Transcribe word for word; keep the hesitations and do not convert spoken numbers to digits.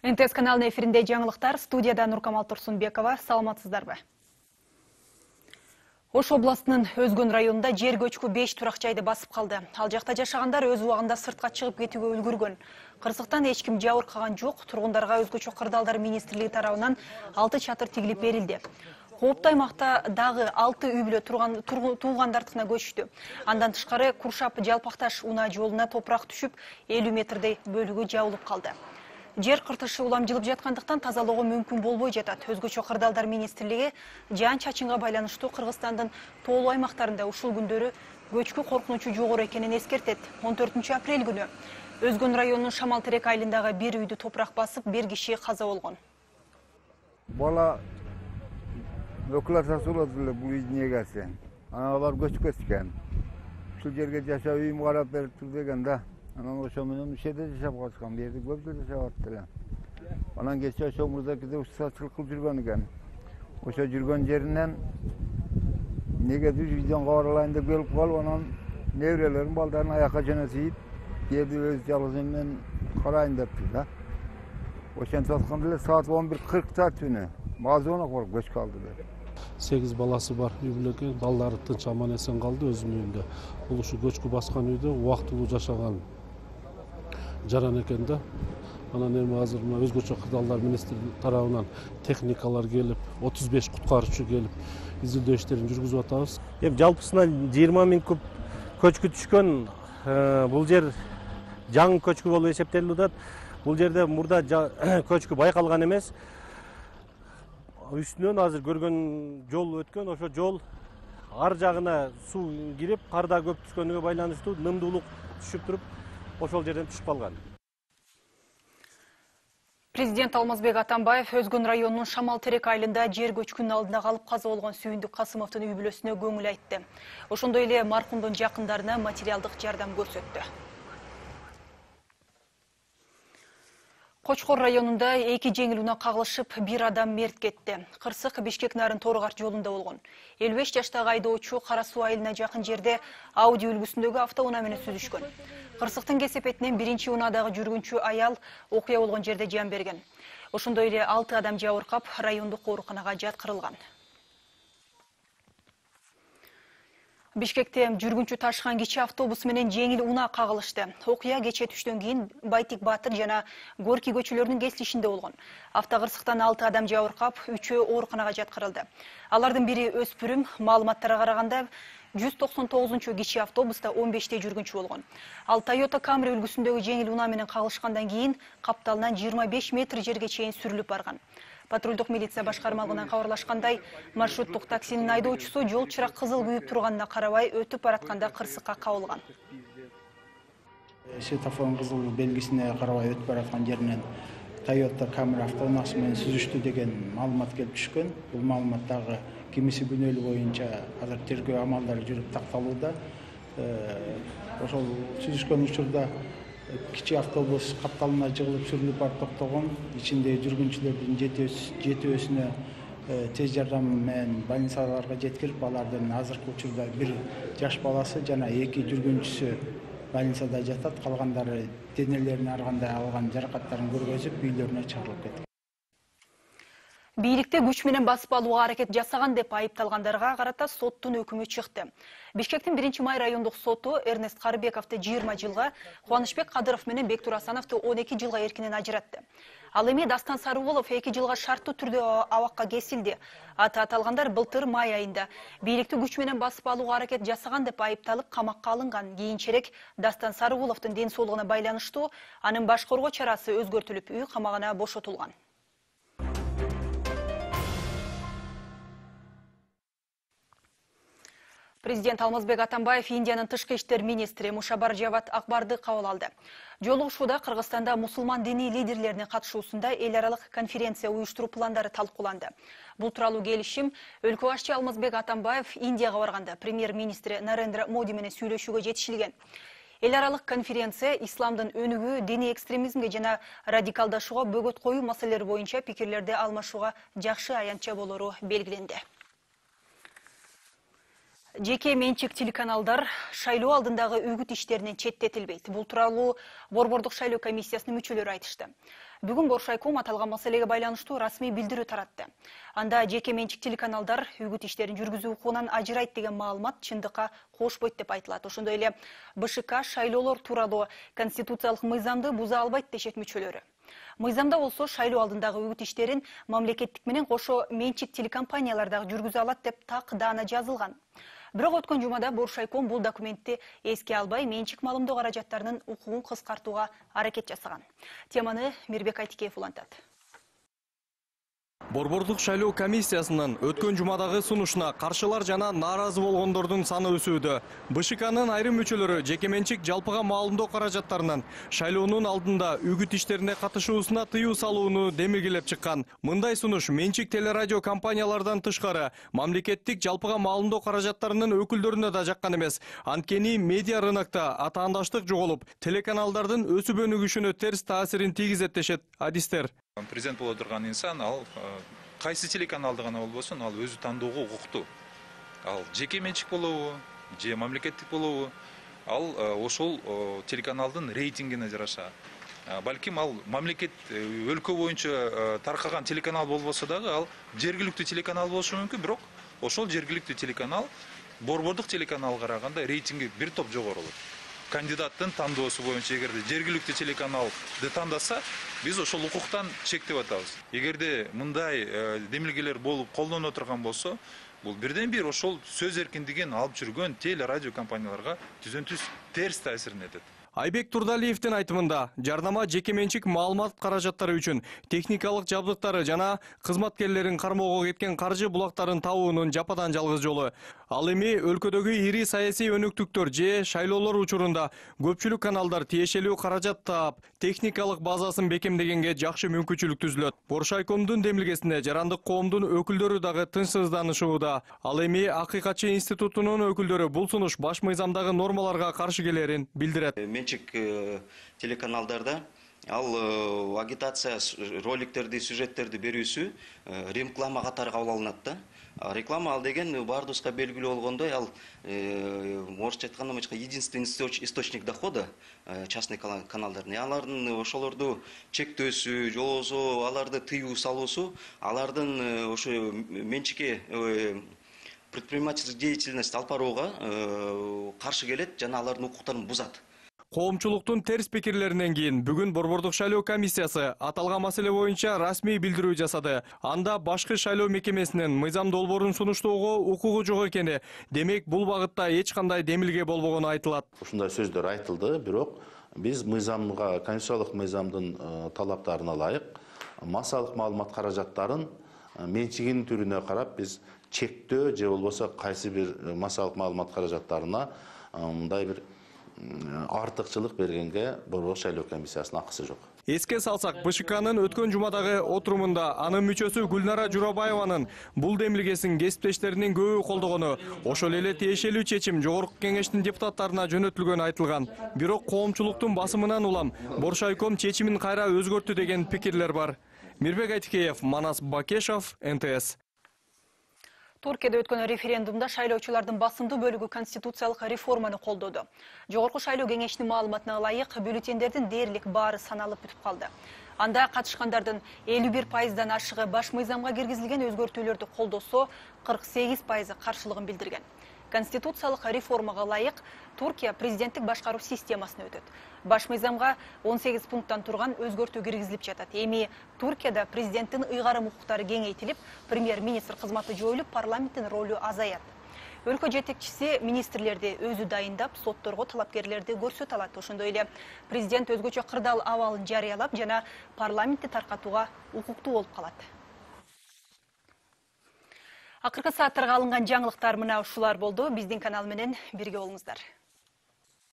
эн тэ эс каналынын эфиринде жаңылыктар, студияда Нуркамал Турсунбекова. Саламатсыздарбы? Ош областынын Өзгөн районунда жер көчкү беш турак жайды басып калды. Ал жакта жашагандар өз убагында сыртка чыгып кетүүгө үлгүргөн. Кырсыктан эч ким жабыркаган жок. Тургундарга өзгөчө кырдаалдар министрлиги тарабынан алты чатыр тигилип берилди. Кооптуу аймакта дагы алты үй бүлө турган туугандардыкына көчтү. Андан тышкары Куршап Жалпакташ унаа жолуна топурак түшүп, элүү метрдей бөлүгү жабылып калды. Жер кыртышы улам жылып жаткандыктан тазалоого мүмкүн болбой жатат. Өзгөчө кырдаалдар министрлиги жаан-чачынга байланыштуу Кыргызстандын тоолуу аймактарында ушул күндөрү көчкү коркунучу жогору экенин эскертет. он төртүнчү апрель күнү Өзгөн районунун Шамал Терек айылындагы бир үйдү топурак басып, бир киши каза болгон. Бала өкүлатасы болот эле бул үйдүн эгеси. Анан алар көчүп кетишкен. Ушул жерге жашап үйүм карап бериптир деген да. Анан ошо менен ушул жерде жашап калышкан, бу жерде көп жыл жашап атты эле. Анан кечээ ошо мырзакиде ушсачылык кылып жүргөн экен. Ошо жүргөн жеринен негедир үйдөн кабарлайын деп келип калып, анан неберелерин балдарын аякка жөнөтүп, жерди өз жалгыз менен карайын дептир да. Ошентип атканда эле саат он бир кыркта түнү мазоонок болуп көчүп калды деп. сегиз баласы бар үй бүлөкөй, балдары тынч аман эсен калды өзүнүн үйүндө. Бул ушу көчкү баскан үйдө убактылуу жашаган жаран экен да. Анан эми азыр мына өзгөчө кырдаалдар министрлиги тарабынан техникалар келип, отуз беш куткаруучу келип, изилдөө иштерин жүргүзүп атабыз. Эми жалпысына жыйырма миң куб көчкү түшкөн. Бул жер жаңы көчкү болуп эсептелип атат. Бул жерде мурда көчкү байкалган эмес. Үстүнөн азыр көргөн жол өткөн, ошо жол ар жагына суу кирип, кар да көп түшкөнүгө байланыштуу нымдуулук түшүп туруп, ошол жерден түшүп калган. Президент Алмазбек Атамбаев Өзгөн районунун Шамал Терек айылында жер көчкүнүн алдында калып каза болгон Сүйүндүк Касымовдун үй бүлөсүнө көңүл айтты. Ошондой эле маркумдун жакындарына материалдык жардам көрсөттү. Кочкор районунда эки жеңил унаа кагылышып, бир адам мерт кетти. Кырсык Бишкек Нарын Торгар жолунда болгон. элүү беш жаштагы айдоочу Кара суу айылына жакын жерде Ауди үлгүсүндөгү автоунаа менен сүзүшкөн. Кырсыктын кесепетинен биринчи унаадагы жүргүнчү аял окуя болгон жерде жан берген. Ошондой эле алты адам жабыркап, райондук ооруканага жаткырылган. Бишкекте жүргүнчү ташыган кичи автобус менен жеңил унаа кагылышты. Окуя кечээ түштөн кийин Байтик Батыр жана Горький көчөлөрүнүн кесилишинде болгон. Автокырсыктан алты адам жабыркап, үчөө ооруканага жаткырылды. Алардын бири өспүрүм. Маалыматтарга караганда жүз токсон тогузунчу кичи автобуста он беште жүргүнчү болгон. Ал Toyota Camry үлгүсүндөгү жеңил унаа менен кагылышкандан кийин капталынан жыйырма беш метр жерге чейин сүрүлүп барган. Патрулдук милиция башкармалыгынан кабарлашкандай, маршруттук таксинин айдоочусу жол чырак кызыл күйүп турганына карабай өтүп баратканда кырсыкка кабылган. Светофордун кызыл белгисине карабай өтүп бараткан жеринен Toyota Camry автоунаасы менен сүзүштү деген маалымат келип түшкөн. Бул маалымат дагы кимиси күнөөлүү боюнча азыр тергөө амалдары жүрүп такталууда. Ошол сүзүшкөн учурда кичи автобус капталына жыгылып сүрүлүп барып токтогон. Ичиндеги жүргүнчүлөрдүн жетөөсүнө тез жардам менен больницаларга жеткирип, алардын азыркы учурда бир жаш баласы жана эки жүргүнчүсү больницада жатат. Калгандары денелерин ар кандай алган жаракаттарын көргөзүп, үйлөрүнө чыгарылып кеткен. Бийликте күч менен басып алууга аракет жасаган деп айыпталгандарга карата соттун өкүмү чыкты. Бишкектин биринчи май райондук соту Эрнест Карыбековду жыйырма жылга, Кубанычбек Кадыров менен Бектур Асановду он эки жылга эркинен ажыратты. Ал эми Дастан Сарыболов эки жылга шарттуу түрдө абакка кесилди. Аты аталгандар былтыр май айында бийликти күч менен басып алууга аракет жасаган деп айыпталып камакка алынган. Кийинчерээк Дастан Сарыболовдун ден соолугуна байланыштуу анын баш коргоо чарасы өзгөртүлүп, үй камагына бошотулган. Президент Алмазбек Атамбаев Индиянын тышкы иштер министри Мушабар Жавад Акбарды кабыл алды. Жолугушууда Кыргызстанда мусулман диний лидерлеринин катышуусунда эл аралык конференция уюштуруу пландары талкууланды. Бул тууралуу келишим өлкө башчы Алмазбек Атамбаев Индияга барганда премьер-министри Нарендра Моди менен сүйлөшүүгө жетишилген. Эл аралык конференция исламдын өнүгүү, диний экстремизмге жана радикалдашууга бөгөт коюу маселелери боюнча пикирлерди алмашууга жакшы аянтча болору белгиленди. Жеке менчик телеканалдар шайлоо алдындагы үгүт иштеринен четтетилбейт. Бул тууралуу Борбордук шайлоо комиссиясынын мүчөлөрү айтышты. Бүгүн Боршайком аталган маселеге байланыштуу расмий билдирүү таратты. Анда жеке менчик телеканалдар үгүт иштерин жүргүзүү укугунан ажырайт деген маалымат чындыкка кошпойт деп айтылат. Ошондой эле Б Ш К шайлоолор тууралуу конституциялык мыйзамды буза албайт дешет мүчөлөрү. Мыйзамда болсо шайлоо алдындагы үгүт иштерин мамлекеттик менен кошо менчик телекомпаниялар дагы жүргүзө алат деп так даана жазылган. Бирок өткөн жумада Боршайком бул документти эске албай менчик маалымдоо каражаттарынын укугун кыскартууга аракет жасаган. Теманы Мирбек Айтикеев улантат. Борбордук шайлоо комиссиясынын өткөн жумадагы сунушуна каршылар жана нааразы болгондордун саны өсүүдө. Б Ш К'нын айрым мүчөлөрү жекеменчик жалпыга маалымдоо каражаттарынан шайлоонун алдында үгүт иштерине катышуусуна тыюу салууну демилгелеп чыккан. Мындай сунуш менчик телерадио компаниялардан тышкары мамлекеттик жалпыга маалымдоо каражаттарынын өкүлдөрүнө да жаккан эмес. Анткени медиа рынокто атаандаштык жоголуп, телеканалдардын өсүп өнүгүшүнө терс таасирин тийгизет дешет адистер. Президент боло турган инсан ал кайсы телеканалды гана болбосун, ал өзү тандоого укуктуу. Ал жеке менчик болобу, же мамлекеттик болобу, ал ошол телеканалдын рейтингине жараша. Балким ал мамлекет өлкө боюнча таркаган телеканал болбосо дагы ал жергиликтүү телеканал болушу мүмкүн, бирок ошол жергиликтүү телеканал борбордук телеканалга караганда рейтинги бир топ жогорулот. Кандидаттын тандоосу боюнча эгерде жергиликтүү телеканалды тандаса, биз ошол укуктан чектеп атабыз. Эгерде мындай демилгелер болуп колдоно турган болсо, бул бирден бир ошол сөз эркиндигин алып жүргөн телерадио компанияларга түзөн-түз терс таасирин этет. Айбек Турдалиевдин айтымында, жарнама жекеменчик маалымат каражаттары үчүн техникалык жабдыктары жана кызматкерлерин кармоого кеткен каржы булактарын табуунун жападан жалгыз жолу. Ал эми өлкөдөгү ири саясий өнүктүктөр же шайлоолор учурунда көпчүлүк каналдар тиешелүү каражат таап, техникалык базасын бекемдегенге жакшы мүмкүнчүлүк түзүлөт. Боршайкомдун демилгесинде жарандык коомдун өкүлдөрү дагы тынчсызданышууда. Ал эми Акыйкатчы институтунун өкүлдөрү бул сунуш баш мыйзамдагы нормаларга каршы келерин билдирет. Менчик телеканалдарда ал агитация роликтерди, сюжеттерди берүүсү реклама катары кабыл алынат да. Реклама ал деген бардыбызга белгилүү болгондой, ал орусча айтканда единственный источник дохода частный каналдардын. Алардын ошолорду чектөөсү, же болбосо аларды тыюу салуусу, алардын ошо менчикке предпринимательский деятельность алып барууга каршы келет жана алардын укуктарын бузат. Коомчулуктун терс пикирлеринен кийин бүгүн Борбордук шайлоо комиссиясы аталган маселе боюнча расмий билдирүү жасады. Анда башкы шайлоо мекемесинин мыйзам долбоорун сунуштоого укугу жок экени, демек бул багытта эч кандай демилге болбогону айтылат. Ушундай сөздөр айтылды, бирок биз мыйзамга, конституциялык мыйзамдын талаптарына ылайык массалык маалымат каражаттарын менчигинин түрүнө карап биз чектөө же болбосо кайсы бир массалык маалымат каражаттарына мындай бир артыкчылык бергенге Борбордук шайлоо комиссиясынын акысы жок. Эске салсак, Б Ш К'нын өткөн жумадагы отурумунда анын мүчөсү Гүлнара Журабаеванын бул демилгесин кесиптештеринин көбү колдогону, ошол эле тиешелүү чечим Жогорку Кеңештин депутаттарына жөнөтүлгөнү айтылган. Бирок коомчулуктун басымынан улам Боршайком чечимин кайра өзгөрттү деген пикирлер бар. Мирбек Айтикеев, Манас Бакешов, Н Т С. Туркияда өткөн референдумда шайлоочулардын басымдуу бөлүгү конституциялык реформаны колдоду. Жогорку шайлоо кеңешинин маалыматына ылайык, бюллетендердин дээрлик баары саналып бүтүп калды. Анда катышкандардын элүү бир пайыздан ашыгы баш мыйзамга киргизилген өзгөртүүлөрдү колдосо, кырк сегиз пайызы каршылыгын билдирген. Конституциялык реформага ылайык Туркия президенттик башкаруу системасына өтөт. Баш мыйзамга он сегиз пункттан турган өзгөртүү киргизилип жатат. Эми Туркияда президенттин ыйгарым укуктары кеңейтилип, премьер-министр кызматы жоюлуп, парламенттин ролу азаят. Өлкө жетекчиси министрлерди өзү дайындап, сотторго талапкерлерди көрсөтө алат. Ошондой эле президент өзгөчө кырдаал абалын жарыялап жана парламентти таркатууга укуктуу болуп калат. Акыркы сааттарга алынган жаңылыктар мына ушулар болду. Биздин канал менен бирге болуңуздар.